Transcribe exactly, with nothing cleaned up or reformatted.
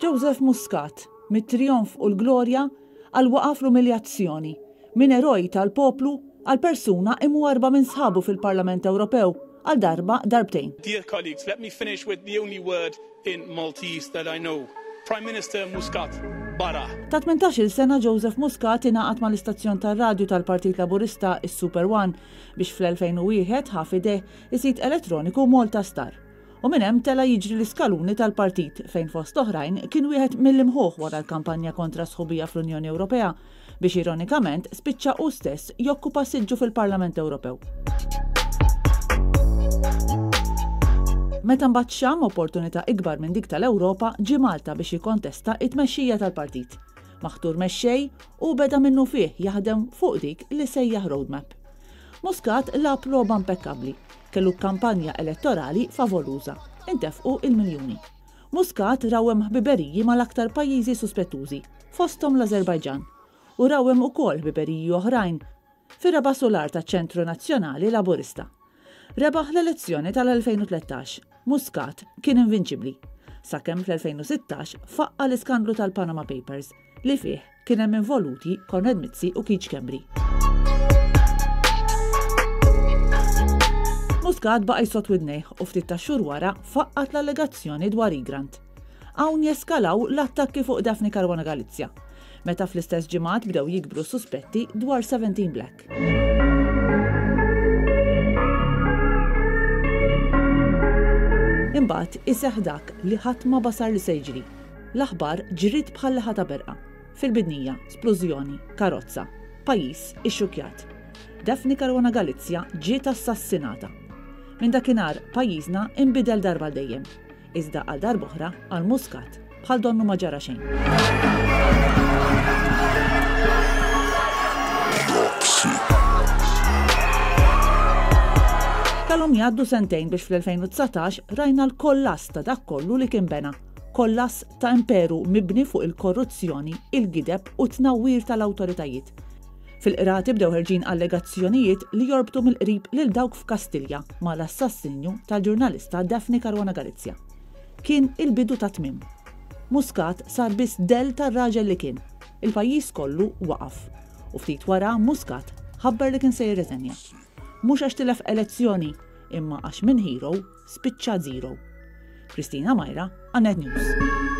Joseph Muscat, mit-trijonf u l-glorja għal waqaf l-umiljazzjoni, minn eroj tal-poplu għal persuna imwarba minn sħabu fil-Parlament Ewropew għal darba darbtejn. Dear colleagues, let me finish with the only word in Maltese that I know. Prime Minister Muscat, barra. Ta' tmintax-il sena Joseph Muscat ingħaqad mal-istazzjon tar-radju tal-Partit Laburista is-Super One biex fl-elfejn u wieħed ħa f'idejh is-sit elettroniku Malta Star. U minn hemm tela' jiġri l-iskaluni tal-partit fejn fost oħrajn kien wieħed mill-imħuħ wara l-kampanja kontra sħubija fl-Unjoni Ewropea biex ironikament spiċċa hu stess jokkupa siġġu fil-Parlament Ewropew. Meta mbagħad xam opportunità ikbar minn dik tal-Ewropa ġie Malta biex jikkontesta it-tmexxija tal-partit. Maħtur mexxej u beda minnu fih jaħdem fuq dik li sejjaħ roadmap. Muscat lagħab logħba impekkabbli, kellu kampanja elettorali favoluża, intefqu il-miljuni. Muscat rawhem ħbiberiji mal-aktar pajjiżi suspettużi, fosthom l-Azerbajġan, u rawhem ukoll ħbiberiji oħrajn fir-raba' solar taċ-Ċentru Nazzjonali Laburista. Rebaħ l-elezzjoni tal-elfejn u tlettax, Muscat kien invinċibbli, sakemm fl-elfejn u sittax faqqa l-iskandlu tal-Panama Papers li fih kien hemm involuti Konrad Mizzi u Keith Schembri. Muscat baqa' jsott widnejh u ftit ta' xhur wara faqqat l-allegazzjoni dwar Egrant. Hawn jeskalaw l-attakki fuq Daphne Caruana Galizia, meta fl-istess ġimgħat bdew jikbru suspetti dwar seventeen Black. Imbagħad iseħħ dak li ħadd ma basar li se jiġri. L-aħbar ġriet bħal ħata berqa. Fil-bidnija, splużjoni, karozza, pajjiż ixxukjat. Daphne Caruana Galizia ġiet assassinata. Minn dakinhar pajjiżna inbidel darba dejjem. Iżda għal darb'oħra għal Muscat bħal donnu ma ġara xejn. Kellhom jgħaddu sentejn biex fl-elfejn u dsatax rajna l-kollass ta' dak kollu li kien bena. Kollass ta' imperu mibni fuq il-korruzzjoni, il-gideb u t-tnawwir tal-awtoritajiet. Fil-qrati bdew ħerġin allegazzjonijiet li jorbtu mill-qrib lil dawk f'Kastilja mal-assassinju tal-ġurnalista Daphne Caruana Galizia. Kien il-bidu ta' tmiem. Muscat sar biss del tar-raġel li kien. Il-pajjiż kollu waqaf. U ftit wara Muscat ħabbar li kien se jirreżenja. Mhux għax tilef elezzjoni, imma għax minn hero spiċċa zero. Kristina Majra, Net News.